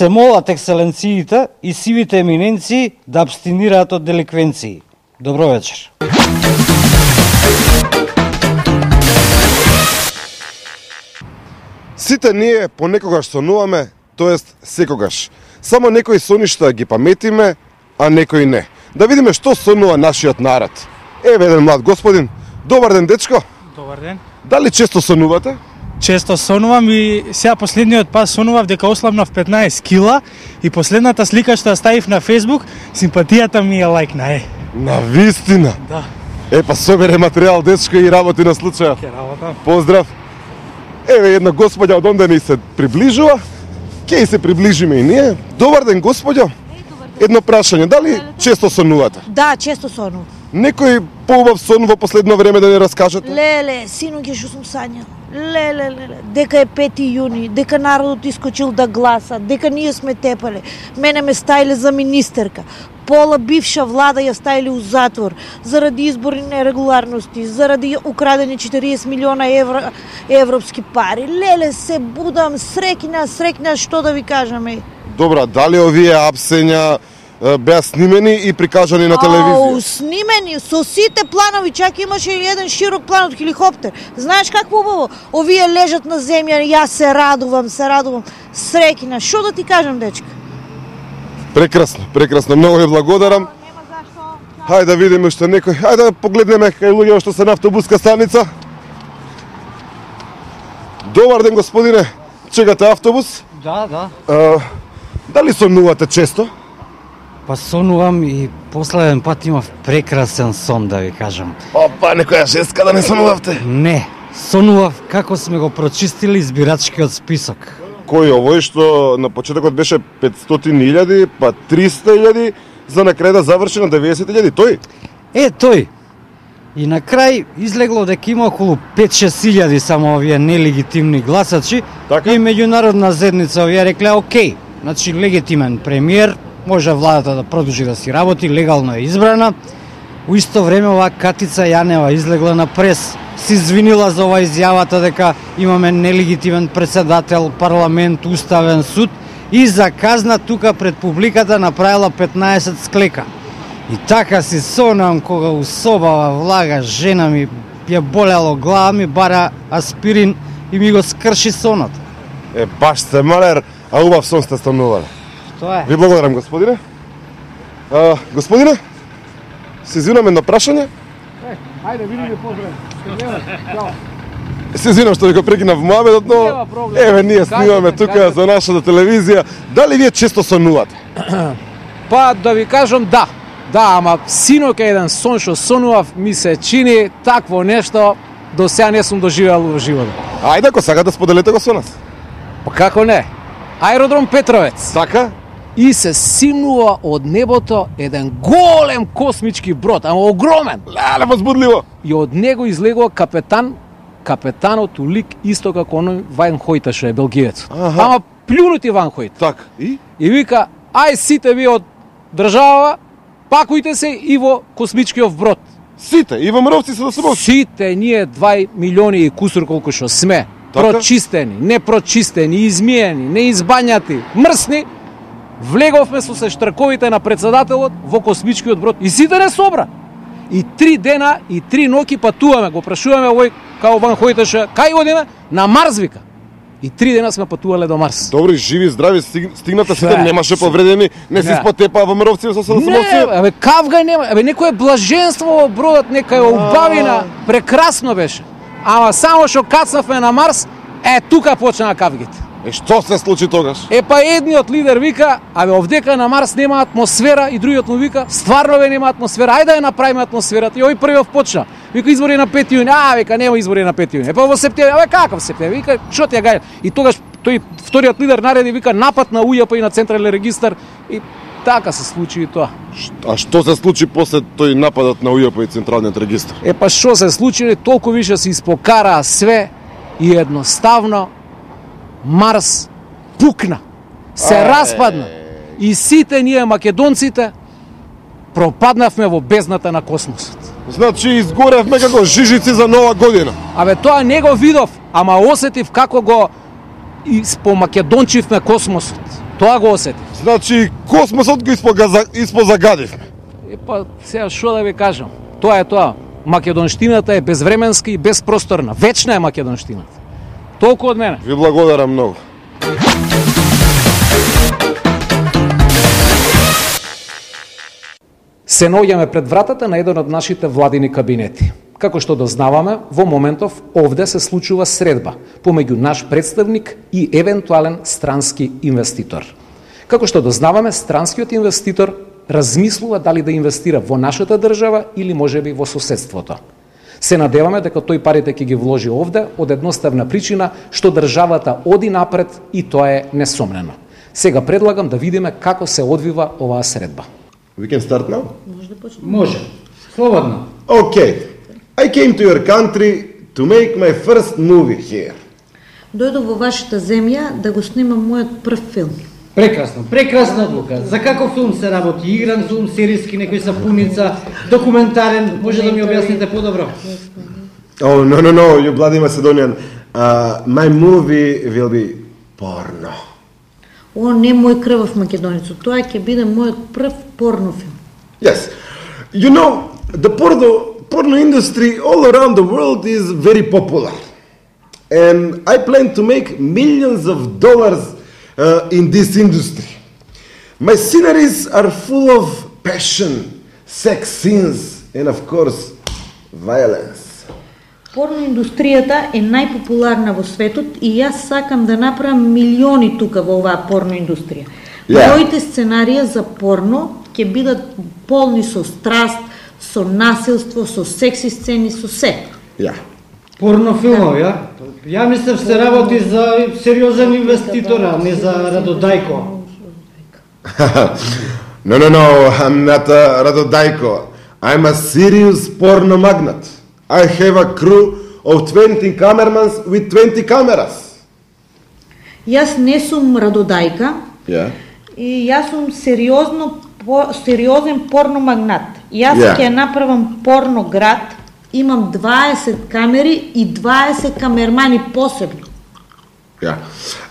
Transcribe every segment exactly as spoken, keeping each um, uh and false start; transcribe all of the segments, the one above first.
се молат екселенциите и сивите еминенции да абстинираат од деликвенции. Добро вечер. Сите ние понекогаш сонуваме, тоест секогаш. Само некои соништа ги паметиме, а некои не. Да видиме што сонува нашиот народ. Еве еден млад господин. Добар ден, дечко. Добар ден. Дали често сонувате? Често сонувам и сега последниот пас сонував дека ослабнав петнаесет кила и последната слика што ја ставив на Facebook, симпатијата ми е лајкна, е. На вистина? Да. Е, па собере материјал, дечко, и работи на случајот. Ке работам. Поздрав. Еве една господја од онде ни се приближува. Ке се приближиме и ние. Добар ден, господјо. Едно прашање, дали често сонувате? Да, често сонувам. Некој поубав сон во последно време да не раскажете? Леле, синоќа што сум сањал. Леле, леле, дека е пети јуни, дека народот искочил да гласа, дека ние сме тепале. Мене ме ставиле за министерка. Пола бивша влада ја ставиле у затвор заради изборни нерегуларности, заради украдени четириесет милиона евро, европски пари. Леле, се будам среќна, среќна, што да ви кажаме. Добра, дали овие апсења беа снимени и прикажани на телевизија? Ау, снимени, со сите планови, чак имаше и еден широк план од хеликоптер. Знаеш какво убаво? Овие лежат на земја, јас се радувам, се радувам. Среќна, што да ти кажам, дечка? Прекрасно, прекрасно, многу ви благодарам. Нема зашто. Хајде да видиме што некој. Хајде да погледнеме кај луѓе што се на автобуска станица. Добар ден, господине. Чекате автобус? Да, да. А, дали сонувате често? Па сонувам и последен пат имав прекрасен сон, да ви кажам. Опа, некоја женска да не сонувавте? Не, сонував како сме го прочистили избирачкиот список. Кој овој што на почетокот беше петстотини илјади, па триста илјади, за на крај да заврши на деветдесет илјади, тој? Е, тој. И на крај излегло дека има околу пет-шест илјади само овие нелегитимни гласачи. Така? И меѓународна заедница овие рекле, окей, значи легитимен премиер, може владата да продолжи да си работи, легално е избрана. У исто време оваа Катица Јанева излегла на прес, се извинила за ова изјавата дека имаме нелегитимен председател, парламент, уставен суд и за казна тука пред публиката направила петнаесет склека. И така си сонам кога у собава влага жена ми ја болело глава ми бара аспирин и ми го скрши сонот. Е, баш сте малер, а убав сон сте станувале. Тоа е. Ви благодарам, господине. А, господине, се извинам едно прашање. Ајде, видиме поздрави. Се извинам што ви го прекинав муабетот, но Нема проблем. еве ние снимаме Кажете, тука кажете. за нашата телевизија. Дали вие често сонувате? Па да ви кажам да. Да, ама синоќа еден сон што сонував ми се чини такво нешто до сега не сум доживеал во животот. Ајде, ако сакате да споделете го со нас. Па како не? Аеродром Петровец. Така? И се симнува од небото еден голем космички брод, ама огромен. Леле, возбудливо. И од него излегува капетан, капетанот у лик исто како оној Ван Хојта што е белгиец. Аха. Ама плюнути Ван Хојт. Така. И? И вика, ај сите ви од држава, пакујте се и во космичкиот брод. Сите, и ВМРО-вци се да се молчи. Сите ние два милиони и кусур колку што сме, Така? прочистени, непрочистени, измиени, неизбањати, мрсни, влеговме со се штрковите на председателот во космичкиот брод и сите не собра. И три дена и три ноќи патуваме, го прашуваме овој као Ван Хојтеше, кај одиме? На Марс вика. И три дена сме патувале до Марс. Добри, живи, здрави, стиг, стигната сите, Не. немаше повредени, не се Не. спотепа ВМРО-вци со се да се Не, молчи. абе кавга нема, абе некое блаженство во бродот, некоја убавина, прекрасно беше. Ама само што кацнавме на Марс, е тука почнаа кавгите. Е, што се случи тогаш? Е па едниот лидер вика, абе овдека на Марс нема атмосфера и другиот му вика, стварно ве нема атмосфера, ајде да ја направиме атмосферата. И овој првиот почна. Вика избори на пети јуни, а вика нема избори на пети јуни. Е па во септември, абе каков септември? Вика што ти ја гаѓа? И тогаш тој вториот лидер нареди вика напад на УЈП и на централен регистар и така се случи и тоа. А што се случи после тој нападот на УЈП и Централниот регистар? Е па што се случи, толку више се испокараа све и едноставно Марс пукна. Се Ај. распадна. И сите ние македонците пропаднавме во бездната на космосот. Значи изгоревме како жижици за нова година. Абе тоа не го видов, ама осетив како го испомакедончивме космосот. Тоа го осети. Значи, космосот го испоза- испозагадивме. Е па сега што да ви кажам? Тоа е тоа. Македонштината е безвременска и безпросторна. Вечна е македонштината. Толку од мене. Ви благодарам многу. Се наоѓаме пред вратата на еден од нашите владини кабинети. Како што дознаваме, во моментов овде се случува средба помеѓу наш представник и евентуален странски инвеститор. Како што дознаваме, странскиот инвеститор размислува дали да инвестира во нашата држава или можеби во соседството. Се надеваме дека тој парите ќе ги вложи овде од едноставна причина што државата оди напред и тоа е несомнено. Сега предлагам да видиме како се одвива оваа средба. We can start now? Може. Слободно. Okay. I came to your country to make my first movie here. Дојдов во вашата земја да го снимам мојот прв филм. Прекрасно, прекрасна одлука. За каков филм се работи? Игран филм, серијски, некој сапуница, документарен? Може да ми објасните подобро? Oh, no, no, no, you bloody Macedonian. Uh, my movie will be porno. О, не мој крвав македонецо, тоа ќе биде мојот прв порно филм. Yes. You know, the porno, porno industry all around the world is very popular. And I plan to make millions of dollars uh, in this industry. My sceneries are full of passion, sex scenes, and of course, violence. Порно индустријата е најпопуларна во светот и јас сакам да направам милиони тука во оваа порно индустрија. Yeah. Моите сценарија за порно ќе бидат полни со страст, со насилство, со секси сцени, со се. Yeah. Порно филмови, ја? Ја мислев се работи за сериозен инвеститор, а не за Радодајко. No, no, no, I'm not a Radodajko. I'm a serious porno magnate. I have a crew of twenty cameramans with twenty cameras. Јас не сум Радодајка Yeah. и јас сум сериозно по, сериозен порно магнат. Јас Yeah. ќе направам порно град, имам дваесет камери и дваесет камермани посебно. Yeah.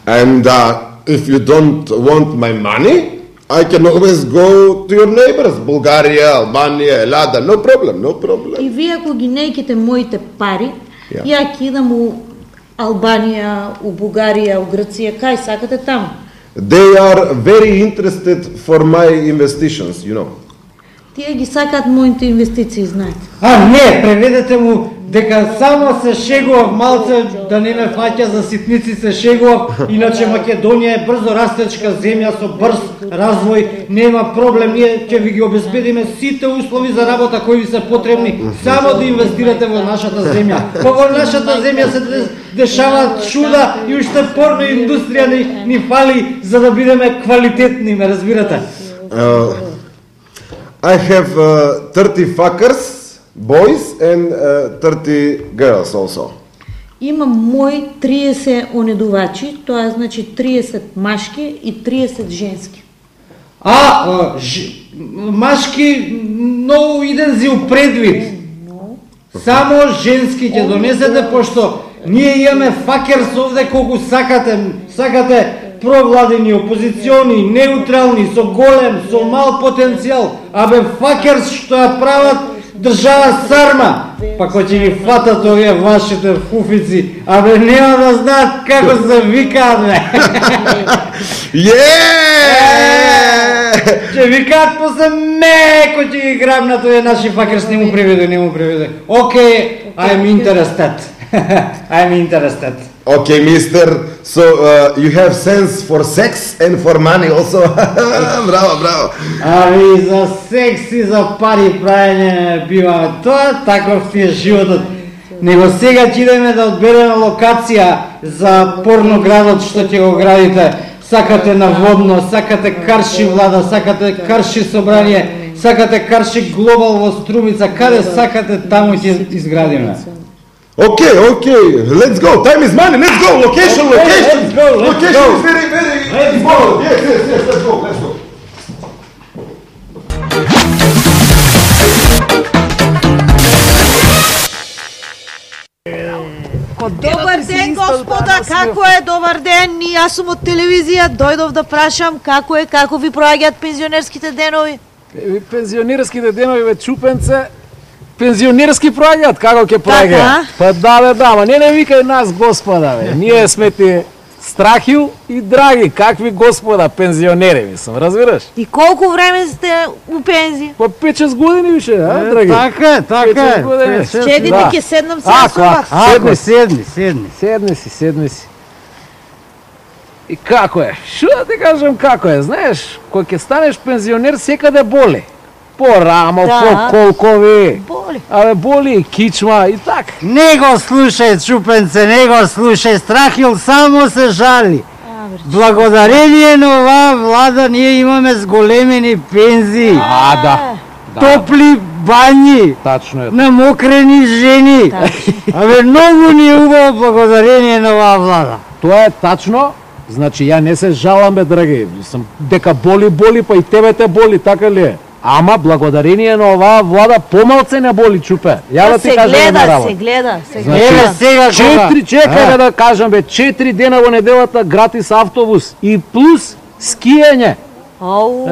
And uh, if you don't want my money, I can always go to your neighbors, Bulgaria, Albania, Elada, no problem, no problem. И вие ако ги нејките моите пари, Yeah. ја ќе идам у Албанија, у Бугарија, у Грција, кај сакате таму. They are very interested for my investitions, you know. Тие ги сакаат моите инвестиции, знаете. А, не, преведете му дека само се шегував малце, да не ме фаќа за ситници, се шегував, иначе Македонија е брзо растечка земја со брз развој, нема проблем, ние ќе ви ги обезбедиме сите услови за работа кои ви се потребни, само да инвестирате во нашата земја. Па во нашата земја се дешаваат чуда и уште порно индустрија ни, ни фали за да бидеме квалитетни, ме разбирате? Uh, I have uh, thirty fuckers, boys, and uh, thirty girls also. Имам мои триесет онедувачи, тоа значи триесет машки и триесет женски. А, а ж, машки многу иден зил предвид. Само женски ќе донесете, пошто ние имаме факерс овде колку сакате, сакате провладени, опозициони, неутрални, со голем, со мал потенцијал, абе факерс што ја прават држава сарма, па кој ќе ги фатат овие вашите фуфици, абе нема да знаат како се викаат, бе. Yeah! Ќе викаат после меко ќе ги грабнат овие наши факерс, не му преведе, не му преведе. Окей, I'm interested. I'm interested. Okay, mister, so uh, you have sense for sex and for money also. Bravo, bravo. Ами за секс и за пари правење бива тоа, таков ти е животот. Него сега ќе идеме да одбереме локација за порноградот што ќе го градите. Сакате наводно, сакате Карши влада, сакате Карши собрание, сакате Карши глобал во Струмица, каде сакате таму ќе изградиме. Okay, okay, let's go. Time is money. Let's go. Location, Okay, location. let's go, let's location go. is very, very Let's important. Yes, yes, yes. Let's go. Let's go. Добар ден, господа, како е? Добар ден, и јас сум од телевизија, дојдов да прашам како е, како ви проаѓаат пензионерските денови? Еви пензионерските денови ве чупенце, пензионерски проаѓаат, како ќе проаѓаат? Па да бе, да, ама не не викај нас господа бе. Ние сме ти Страхил и Драги, какви господа пензионери мислам, разбираш? И колку време сте у пензија? Па пет-шест години више, а, Драги? Така е, така е. Щедите ќе седнам се со вас. Седни, седни, седни. Седни си, седни си. И како е? Шо да ти кажам како е? Знаеш, кога ќе станеш пензионер секаде боли. По рамо, Да. по колкови. Боли. Абе боли и кичма и така. Не го слушај, чупенце, не го слушај. Страхил само се жали. А, бре. Благодарение на оваа влада ние имаме зголемени пензии, А, да. топли бањи, Тачно е. намокрени жени. Абе, многу ни е убаво благодарение на оваа влада. Тоа е тачно. Значи ја не се жалам бе, драги. Сам дека боли боли, па и тебе те боли, така ли е? Ама благодарение на оваа влада помалце не боли, чупе. Ја да ти Се кажам една гледа, работа. се гледа, се Значи, Еве гледа. сега кога... Четири, чекај А? бе да кажам бе, четири дена во неделата гратис автобус и плюс скијање. Ау.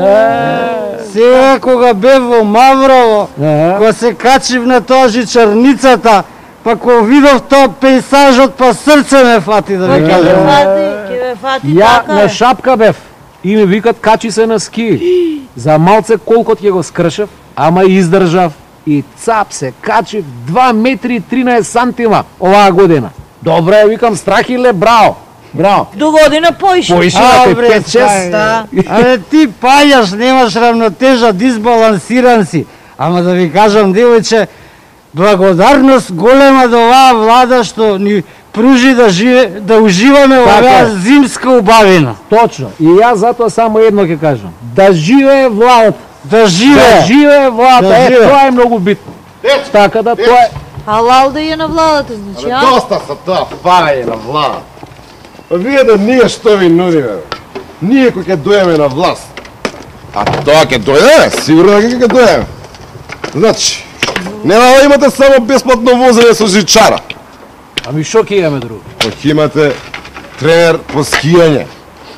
Сега кога бев во Маврово, Е. кога се качив на тоа жичарницата, па кога видов тоа пейсажот, па срце ме фати да Па ви ќе кажам. ме фати, ќе ме фати Ја така на е. шапка бев и ми викат качи се на ски. За малце колкот ќе го скршев, ама издржав и цап се качив два метри и тринаесет сантима оваа година. Добре, викам Страхиле, браво. Браво. До година поише. Поишивате Абре, пет-шест. Да. Абе ти паѓаш, немаш равнотежа, дисбалансиран си. Ама да ви кажам, девојче, благодарност голема до оваа влада што ни пружи да живе, да уживаме во Така оваа е. зимска убавина. Точно. И јас затоа само едно ќе кажам. Да живее владата. Да живе. Да живее владата. Да Е, живее. тоа е многу битно. Така да тоа е. Халал да е на владата, значи, а? Доста са тоа фарање на влада. А вие да ние што ви нудиме, бе? Ние кои ќе дојдеме на власт. А тоа ќе дојде, сигурно дека ќе дојдеме. Значи, нема да имате само бесплатно возење со жичара. Ами шо ќе имаме друго? Па ќе имате тренер по скијање.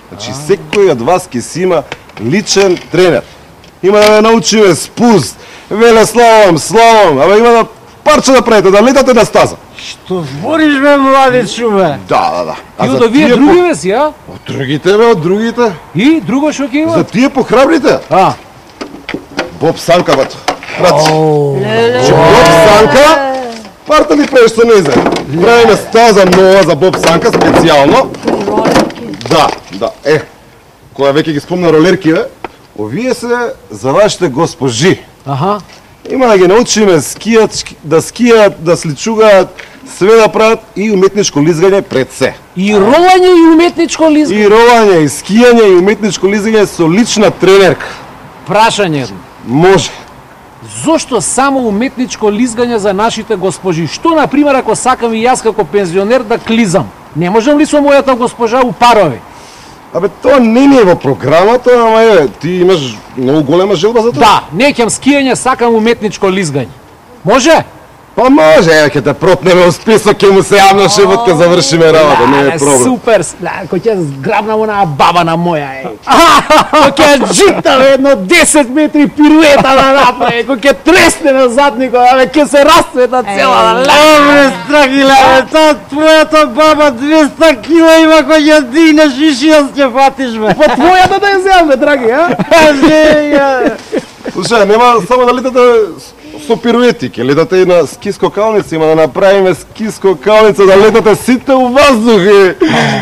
Значи, секој од вас ќе си има личен тренер. Има да ве научиме спуст, веле слалом, слалом, абе има да парче да правите, да летате на стаза. Што збориш бе, младичу бе? Да, да, да. И за од овие тие други по- ве си, а? Од другите, бе, од другите. И друго шо ќе има? За тие похрабрите. А, Боб Санка, бато. Брат, Леле. че Боб Санка, парта ли правиш со незе? Правиме стаза нова за Боб Санка, специјално. Да, да, е. Која веќе ги спомна ролерки, бе, овие се за вашите госпожи. аха. Има да ги научиме скијат, шки- да скијат, да сличугаат, све да прават и уметничко лизгање пред се. И ролање и уметничко лизгање. И ролање, и скијање, и уметничко лизгање со лична тренерка. Прашање едно. Може. Зошто само уметничко лизгање за нашите госпожи? Што, например, ако сакам и јас како пензионер да клизам? Не можам ли со мојата госпожа у парови? Абе, тоа не ни е во програмата, ама е, ти имаш многу голема желба за тоа? Да, неќам скијање, сакам уметничко лизгање. Може? Па може, е, ќе те пропнеме у список, ќе му се јавно шефот, ќе завршиме работа, не е Леле, проблем. Супер, леле, кој ќе зграбнам онаа баба на моја, е. Кој ќе джитам едно десет метри пируета да направи, кој ќе тресне на задникот, абе, ќе се расцвета цела. леле. Добре, Страхиле, бе, таа твојата баба двеста кила има кој ќе дигнеш и шијас ќе фатиш бе. Па твојата да ја земам, бе, драги, а? Кажи, Слушај, нема само да летате со пируети, ќе летате и на скиско калница, има да направиме скиско калница, да летате сите у воздух и...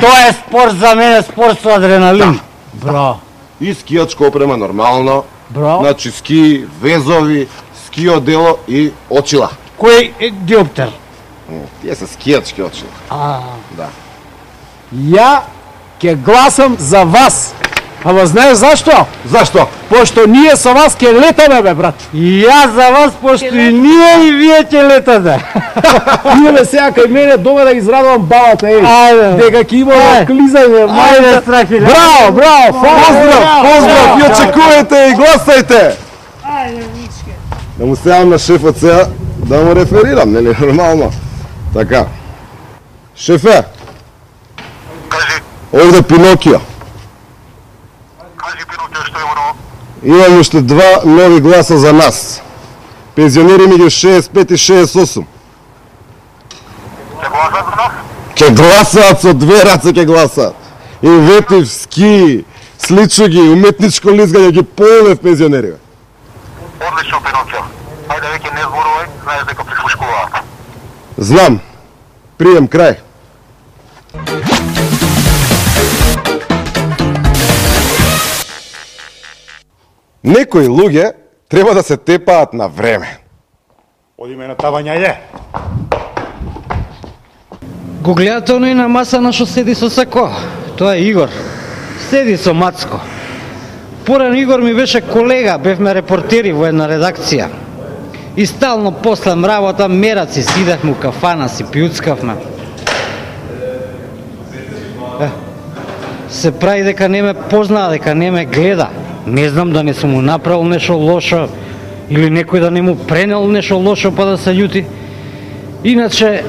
Тоа е спорт за мене, спорт со адреналин. Бро, И скијачка опрема нормално, бро. значи ски, везови, ски одело и очила. Кој е диоптер? Тие се скијачки очила. А, Ја ќе гласам за вас. Ама знаеш зашто? Зашто? Пошто ние со вас ќе летаме, бе, брат. и јас за вас, пошто и ние и вие ќе летате. Идеме сега кај мене дома да израдувам бабата, еј. Ајде. Дека ќе има Ајде. клизање, Ајде, мајде. Страхиле. Браво, браво, Поздрав, поздрав, и очекувате и гласајте! Да му се јавам на шефот сега, да му реферирам, нели, нормално. Така. Шефе, Кажи, овде Пинокио. кажи Пинокио, што има ново? Имам уште два нови гласа за нас. Пензионери меѓу шеесет и пет и шеесет и осум. Ќе гласат за нас? Ке гласаат со две раце ке гласаат. Инветив, ски, сличуги, уметничко лизгање ги полнев пензионери. Одлично, Пинокио. Ајде веќе не зборувај, знаеш дека прислушкуваат. Знам. Прием крај. Некои луѓе треба да се тепаат на време. Одиме на тавања е. Го гледате оној на маса на што седи со сако. Тоа е Игор. Седи со Мацко. Порано Игор ми беше колега, бевме репортери во една редакција. И стално после мработа мераци сидахме у кафана, си пиуцкавме. Е, се прави дека не ме познаа, дека не ме гледа. Не знам да не сум му направил нешто лошо или некој да не му пренел нешто лошо па да се љути. Иначе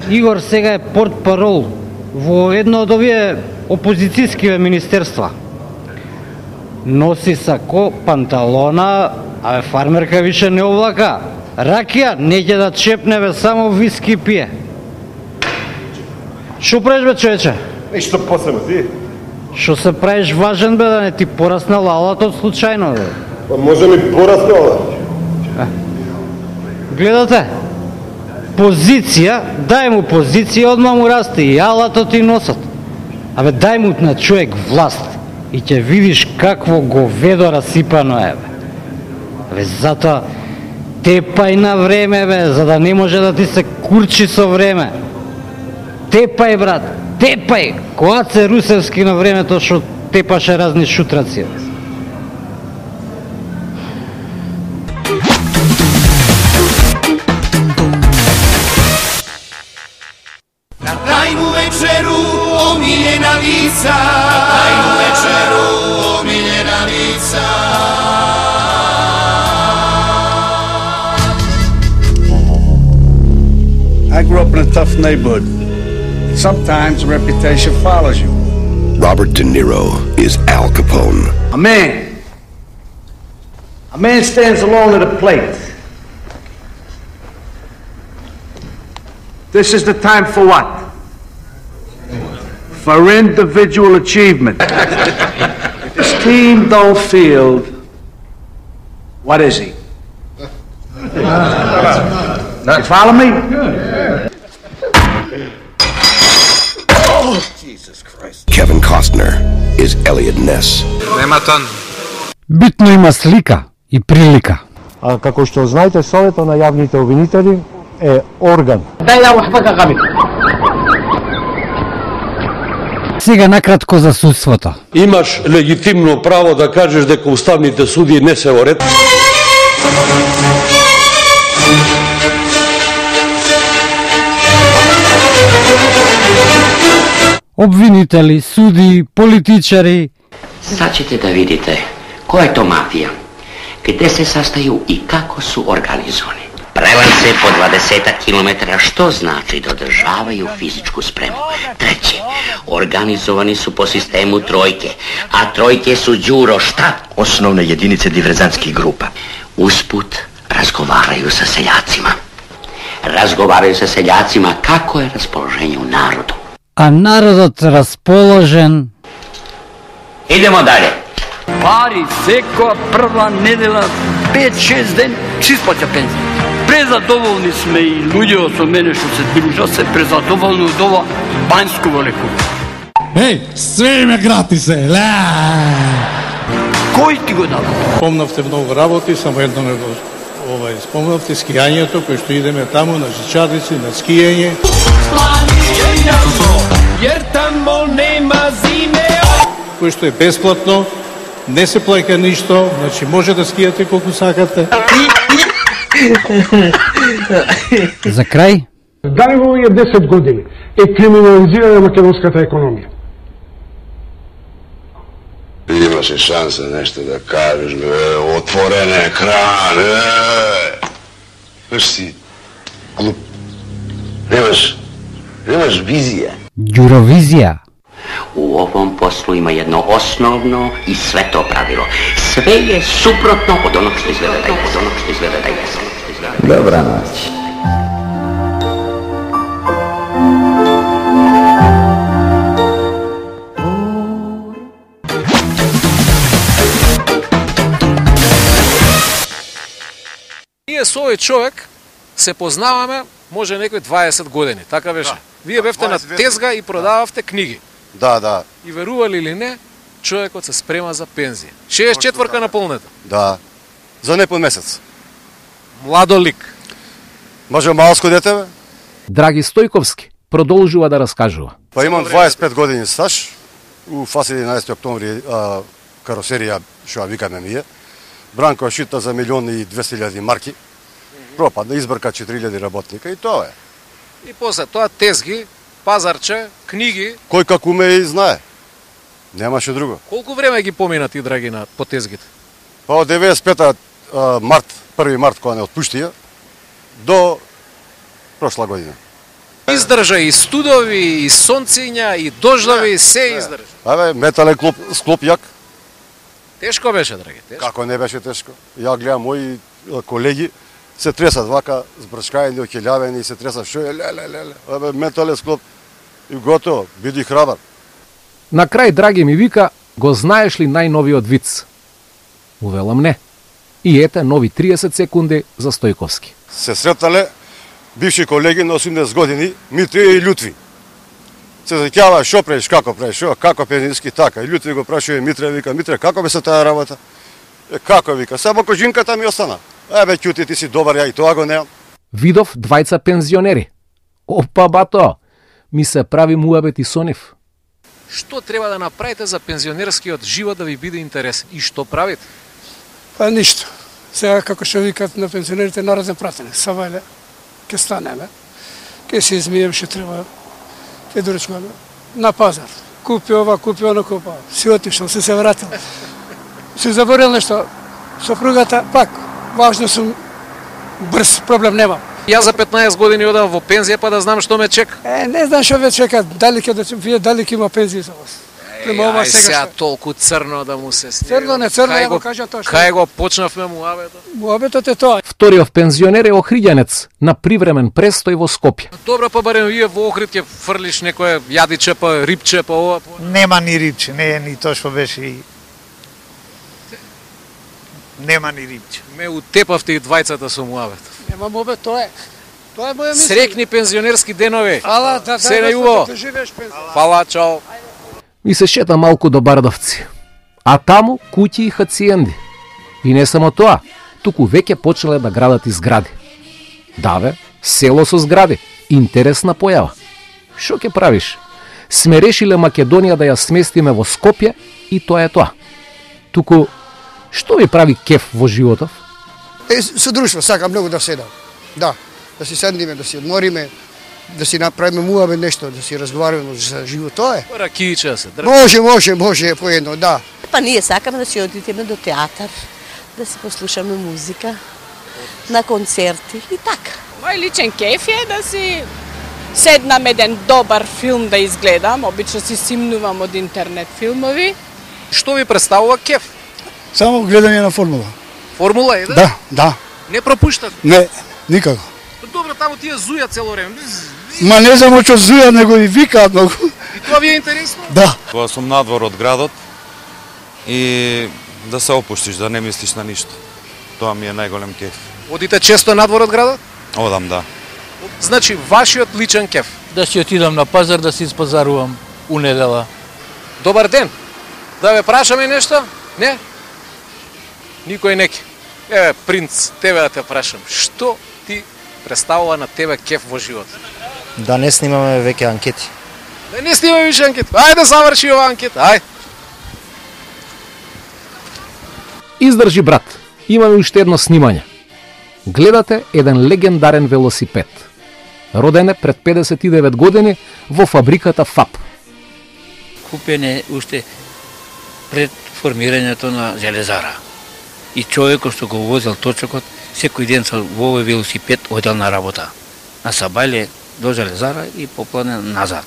Игор сега е портпарол во едно од овие опозицијски министерства. Носи сако, панталона, а фармерка више не облака. Ракија не ќе да чепне, бе, само виски пие. Шо правиш, бе, човече? Ништо посебно, ти? Шо се правиш важен, бе, да не ти порасна лалата од случајно, бе? Па може ми порасне ова. Гледате? Позиција, дај му позиција, одма му расте и алато ти носат. Абе, дај му на човек власт и ќе видиш какво говедо расипано е, бе. Абе, затоа тепај на време, бе, за да не може да ти се курчи со време. Тепај, брат, тепај, кога се Русевски на времето што тепаше разни шутраци. Na tajnu večeru omiljena lica, na tajnu večeru omiljena lica. I grew up in a tough neighborhood. Sometimes a reputation follows you. Robert De Niro is Al Capone. A man. A man stands alone at a plate. This is the time for what? For individual achievement. If his team don't field, what is he? You follow me? Jesus Christ. Kevin Costner is Elliot Ness. Битно има слика и прилика. А како што знаете, Советот на јавните обвинители е орган. Сега накратко за судството. Имаш легитимно право да кажеш дека уставните суди не се во ред. Обвинители, суди, политичари. Sad ćete da vidite koja je to mafija, gde se sastaju i kako su organizovani. Prelance po dvadesetak kilometara, što znači da održavaju fizičku spremu. Treće, organizovani su po sistemu trojke, a trojke su Đuro šta? Osnovne jedinice diverzantskih grupa. Usput razgovaraju sa seljacima. Razgovaraju sa seljacima kako je raspoloženje u narodu. А народот расположен. Idemo dalje. Пари секоја прва недела, пет-шест ден, си исплаќа пензија. Презадоволни сме и луѓето со мене што се дружат се презадоволни од ова банјско лекување. Еј, све ме гратис е, ле! Кој ти го дава? Спомнавте многу работи, само едно ме го овај, спомнавте скијањето, кој што идеме таму на Жичарици, на скијање. Jer tamo nema zime. Кој што е бесплатно, не се плаќа ништо, значи може да скијате колку сакате. За крај? Дали во овие десет години е криминализирана македонската економија? Имаше шанса нешто да кажеш, бе, отворен екран, е. Виж си, глуп. Немаш, немаш Немаш визија. Јуровизија. U ovom poslu ima jedno osnovno i sveto pravilo. Sve je suprotno od onog što izgleda da jeste. Od onog što izgleda da jeste. Добра ноќ. Ние со овој човек се познаваме може некои дваесет години, така беше. Вие бевте на тезга и продававте книги. Да, да. И верували или не, човекот се спрема за пензија. шеесет и четврка наполнета. Да. За непол месец. Младо лик. Може малско дете, бе? Драги Стојковски продолжува да раскажува. Па имам дваесет и пет години стаж. У ФАС единаесети октомври а, каросерија, што ја викаме ние. Бранко шита за милион и двесте илјади марки. Пропадна, избрка четири илјади работника и тоа е. И после тоа тезги, пазарче, книги. Кој како уме и знае. Немаше друго. Колку време ги помина ти, драги, на по тезгите? Па од деветдесет и пета март, први март кога не отпуштија, до прошла година. Издржа и студови, и сонциња, и дождови, се издржа. Абе, метален клоп, склоп јак. Тешко беше, драги, тешко. Како не беше тешко? Ја гледам мои колеги се тресат вака, збрчкаени, окелјавени и се тресат, шо е, леле, леле, абе, метален склоп и готово, биди храбар. На крај, драги ми вика, го знаеш ли најновиот виц? Увелам не. И ете нови триесет секунди за Стојковски. Се сретале бивши колеги на осумдесет години, Митри и Лютви. Се заќава шо правиш, како правиш, шо, како пензиски така. И Лютви го прашува Митре, вика, Митре, како бе се таа работа? Е, како вика, само кожинката ми остана. Ебе, ќути, ти си добар, ја и тоа го неам. Видов двајца пензионери. Опа, бато, ми се прави муабети со нив. Што треба да направите за пензионерскиот живот да ви биде интересен? И што правите? Па ништо. Сега, како што викат на пензионерите, народен пратене. Савајле, ке станеме, ке се измием, што треба, ке доречуваме на пазар. Купи ова, купи оно, купа. Си отишел, си се вратил. Си заборил нешто. Сопругата, пак, важно сум, брз, проблем нема. Јас за петнаесет години одам во пензија, па да знам што ме чека. Е, не знам што ве чека, дали ќе да вие дали ќе има пензија за вас. Према ова сега. Сега толку црно да му се стига. Црно не црно, ја го кажа тоа што. Кај го почнавме муабетот? Муабетот е тоа. Вториот пензионер е охриѓанец на привремен престој во Скопје. Добро, па барем вие во Охрид ќе фрлиш некое јадиче, па рибче, па ова. Нема ни рибче, не е ни тоа што беше и нема ни рибче. Ме утепавте и двајцата со муабет. Нема муабет, тоа е. Тоа е моја мисла. Срекни пензионерски денови. Ала, да, да, се најубаво. Да живееш пензија. Фала, чао. Ми се шета малку до Бардовци. А таму куќи и хациенди. И не само тоа, туку веќе почнале да градат и згради. Да бе, село со згради. Интересна појава. Шо ќе правиш? Сме решиле Македонија да ја сместиме во Скопје и тоа е тоа. Туку, што ви прави кеф во животов? Е, со друштво, сакам многу да седам. Да, да си седниме, да си одмориме, да си направиме муабе нешто, да си разговараме за живот, тоа е. Ракијче се држи. Може, може, може, поедно, да. Па ние сакаме да си одидеме до театар, да си послушаме музика, на концерти и така. Мој личен кеф е да си седнам еден добар филм да изгледам, обично си симнувам од интернет филмови. Што ви представува кеф? Само гледање на формула. Формула еден? Да, да. Не пропуштат? Не, никако. Добро, таму тие зујат цело време. Ма не само што зујат, него и викаат многу. И тоа ви е интересно? Да. Кога сум надвор од градот и да се опуштиш, да не мислиш на ништо. Тоа ми е најголем кеф. Одите често надвор од градот? Одам, да. Значи, вашиот личен кеф? Да си отидам на пазар, да си испазарувам у недела. Добар ден. Да ве прашаме нешто? Не? Никој неки. Еве, принц, тебе да те прашам. Што ти представува на тебе кеф во живот? Да не снимаме веќе анкети. Да не снимаме више анкети. Ајде заврши ова анкета, ај. Издржи, брат. Имаме уште едно снимање. Гледате еден легендарен велосипед. Роден е пред педесет и девет години во фабриката ФАП. Купен е уште пред формирањето на железара. И човекот што го возел точокот, секој ден со во овој велосипед одел на работа. На Сабајле до железара и поплане назад.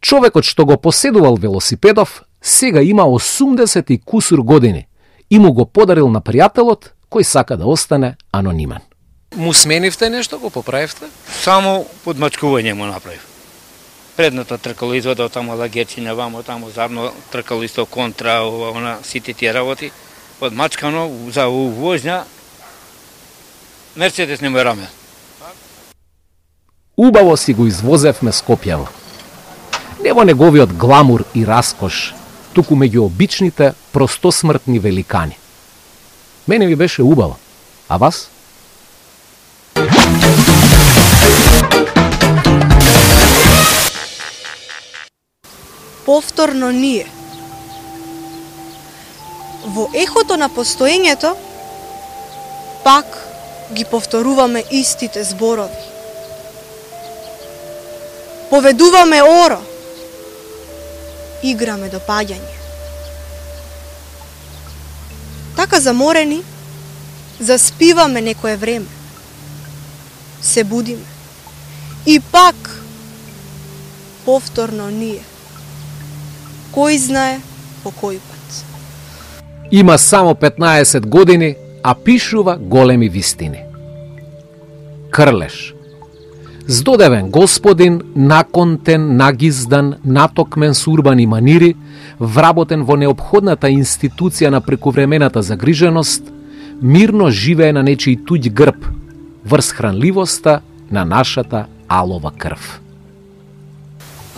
Човекот што го поседувал велосипедов сега има осумдесет и кусур години и му го подарил на пријателот кој сака да остане анонимен. Му сменивте нешто, го поправивте? Само подмачкување му направив. Предното тркало извадал таму лагерчиња, вамо таму задно тркало исто контра, она сите тие работи. Подмачкано за увозња Мерцедес не му е раме. Убаво си го извозевме Скопјево. Не во неговиот гламур и раскош, туку меѓу обичните простосмртни великани. Мене ми беше убаво, а вас? Повторно ние. Во ехото на постоењето, пак ги повторуваме истите зборови. Поведуваме оро, играме до паѓање. Така заморени, заспиваме некое време. Се будиме. И пак, повторно ние. Кој знае по кој пат. Има само петнаесет години, а пишува големи вистини. Крлеш. Здодевен господин, наконтен, нагиздан, натокмен с урбани манири, вработен во неопходната институција на прековремената загриженост, мирно живее на нечиј туѓ грб, врз хранливоста на нашата алова крв.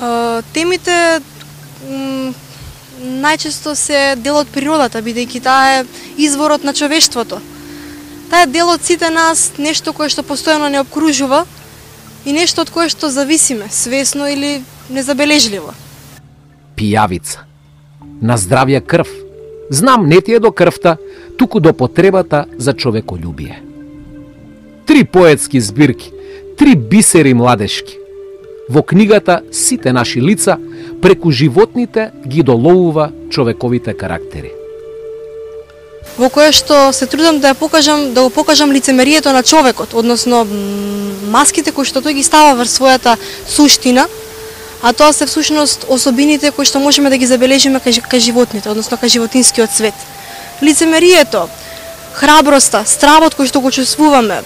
Uh, темите најчесто се дел од природата, бидејќи таа е изворот на човештвото. Таа е дел од сите нас, нешто кое што постојано не обкружува и нешто од кое што зависиме, свесно или незабележливо. Пијавица. На здравје крв. Знам, не ти е до крвта, туку до потребата за човеколюбие. Три поетски збирки, три бисери младешки. Во книгата сите наши лица, преку животните ги доловува човековите карактери. Во кое што се трудам да ја покажам, да го покажам лицемерието на човекот, односно маските кои што тој ги става врз својата суштина, а тоа се всушност особините кои што можеме да ги забележиме кај, кај животните, односно кај животинскиот свет. Лицемерието, храброста, стравот кој што го чувствуваме,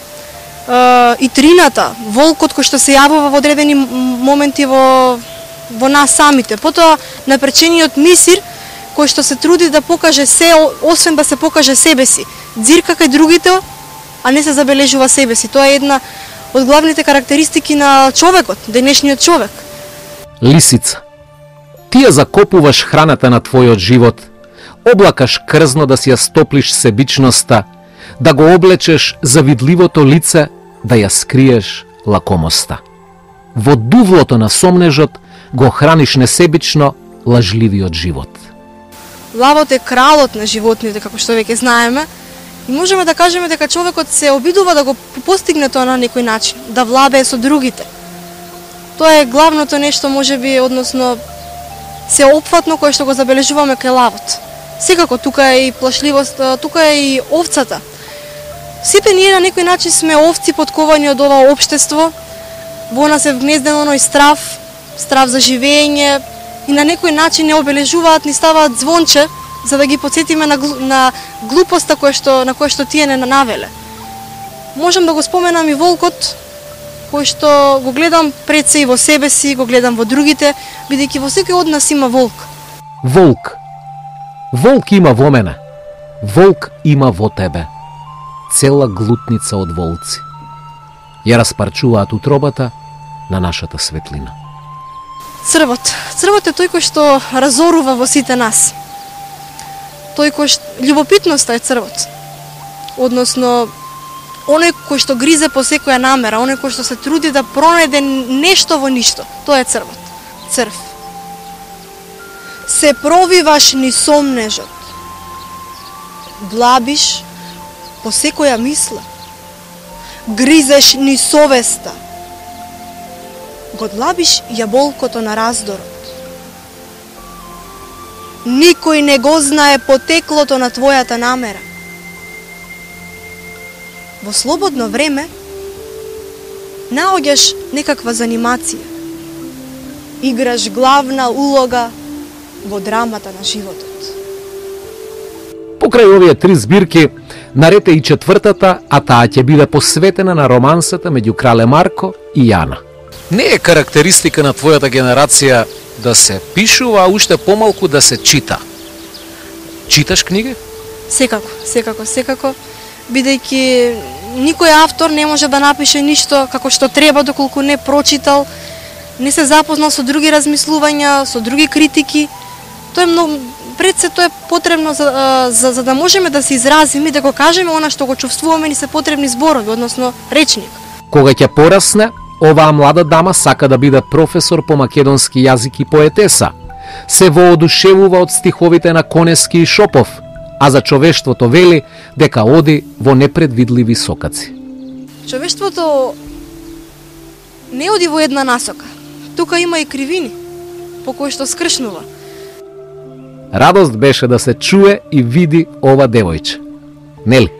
и трината, волкот кој што се јавува во одредени моменти во во нас самите. Потоа напречениот мисир кој што се труди да покаже се, освен да се покаже себе си. Дзирка кај другите, а не се забележува себе си. Тоа е една од главните карактеристики на човекот, денешниот човек. Лисица. Ти ја закопуваш храната на твојот живот, облакаш крзно да си ја стоплиш себичноста, да го облечеш завидливото лице, да ја скриеш лакомоста. Во дувлото на сомнежот го храниш несебично лажливиот живот. Лавот е кралот на животните, како што веќе знаеме, и можеме да кажеме дека човекот се обидува да го постигне тоа на некој начин, да влабее со другите. Тоа е главното нешто, можеби, односно се опфатно кое што го забележуваме кај лавот. Секако тука е и плашливост, тука е и овцата. Сите ние на некој начин сме овци подковани од ова општество, во нас е вгнезден оној страв, страв за живење, и на некој начин не обележуваат, ни ставаат звонче, за да ги подсетиме на, на глупоста која што, на која што тие не навеле. Можам да го споменам и волкот, кој што го гледам пред се и во себе си, го гледам во другите, бидејќи во секој од нас има волк. Волк. Волк има во мене. Волк има во тебе. Цела глутница од волци. Ја распарчуваат утробата на нашата светлина. Црвот. Црвот е тој кој што разорува во сите нас. Тој кој што... Љубопитноста е црвот. Односно, оној кој што гризе по секоја намера, оној кој што се труди да пронајде нешто во ништо. Тоа е црвот. Црв. Се провиваш ни сомнежот. Длабиш по секоја мисла. Гризеш ни совеста. Го длабиш јаболкото на раздорот. Никој не го знае потеклото на твојата намера. Во слободно време наоѓаш некаква занимација. Играш главна улога во драмата на животот. Покрај овие три збирки, наред е и четвртата, а таа ќе биде посветена на романсата меѓу крале Марко и Јана. Не е карактеристика на твојата генерација да се пишува, а уште помалку да се чита. Читаш книги? Секако, секако, секако, бидејќи никој автор не може да напише ништо како што треба доколку не прочитал, не се запознал со други размислувања, со други критики. Тоа е многу, пред се тоа е потребно за, за, за да можеме да се изразиме и да го кажеме она што го чувствуваме, ни се потребни зборови, односно речник. Кога ќе порасне, оваа млада дама сака да биде професор по македонски јазик и поетеса. Се воодушевува од стиховите на Конески и Шопов, а за човештвото вели дека оди во непредвидливи сокаци. Човештвото не оди во една насока. Тука има и кривини по кои што скршнува. Радост беше да се чуе и види ова девојче. Нели?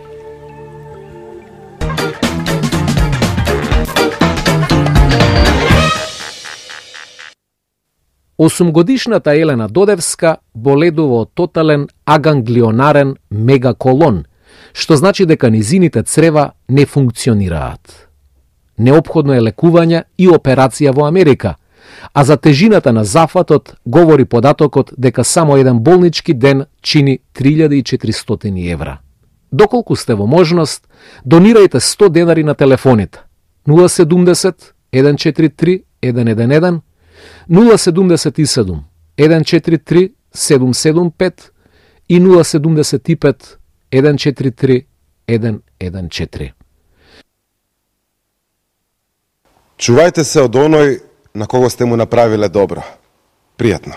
Осумгодишната Елена Додевска боледува од тотален аганглионарен мегаколон, што значи дека низините црева не функционираат. Неопходно е лекување и операција во Америка, а за тежината на зафатот говори податокот дека само еден болнички ден чини три илјади и четиристотини евра. Доколку сте во можност, донирајте сто денари на телефоните нула седумдесет еден четири три еден еден еден, нула седумдесет и седум еден четири три седум седум пет и нула седумдесет и пет еден четири три еден еден четири. Чувајте се од оној на кого сте му направиле добро. Пријатно.